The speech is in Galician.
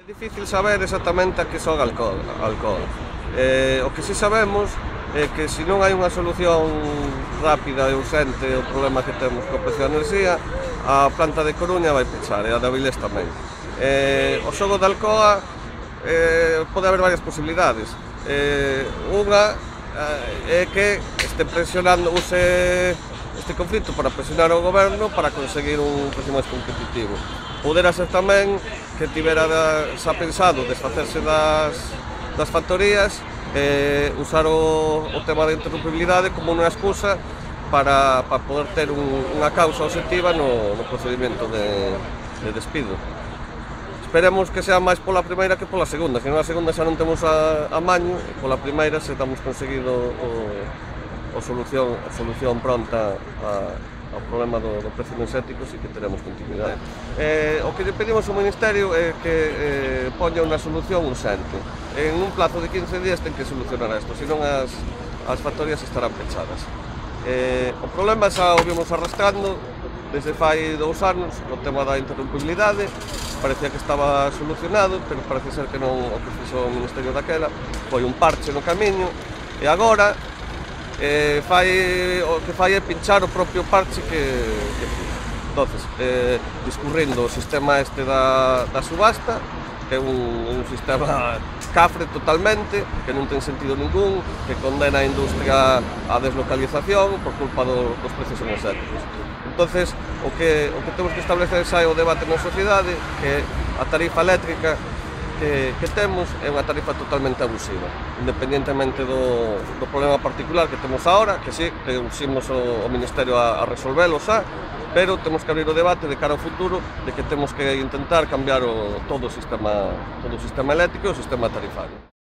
Difícil saber exactamente a que son alcohol. O que si sabemos é que se non hai unha solución rápida e urxente ao problema que temos co precio da enerxía, a planta de Coruña vai pechar e a de Avilés tamén. O xogo de Alcoa pode haber varias posibilidades. Unha é que este presionando, use este conflito para presionar o goberno para conseguir un precio máis competitivo. Podera ser tamén que tivera xa pensado desfacerse das factorías e usar o tema da interrumpibilidade como unha excusa para poder ter unha causa obxectiva no procedimento de despido. Esperemos que sea máis pola primeira que pola segunda, senón a segunda xa non temos a maño, e pola primeira se damos conseguido a solución pronta ao problema do precio enerxético, sí que teremos continuidade. O que lle pedimos ao Ministerio é que poña unha solución urxente. En un plazo de 15 días ten que solucionar isto, senón as factorías estarán pechadas. O problema xa o vimos arrastrando desde fai 2 anos, o tema da interrumpibilidade, parecía que estaba solucionado, pero parece ser que non. O que fixo o Ministerio daquela foi un parche no camiño, e agora o que fai é pinchar o propio parche que fixo. Entonces, discurrindo o sistema este da subasta, que é un sistema cafre totalmente, que non ten sentido ningún, que condena a industria á deslocalización por culpa dos precios enerxéticos. Entonces, o que temos que establecer xa é o debate na sociedade, que a tarifa eléctrica que temos é unha tarifa totalmente abusiva, independentemente do problema particular que temos agora, que sí, que usimos o Ministerio a resolvelo xa, pero temos que abrir o debate de cara ao futuro de que temos que intentar cambiar todo o sistema eléctrico e o sistema tarifario.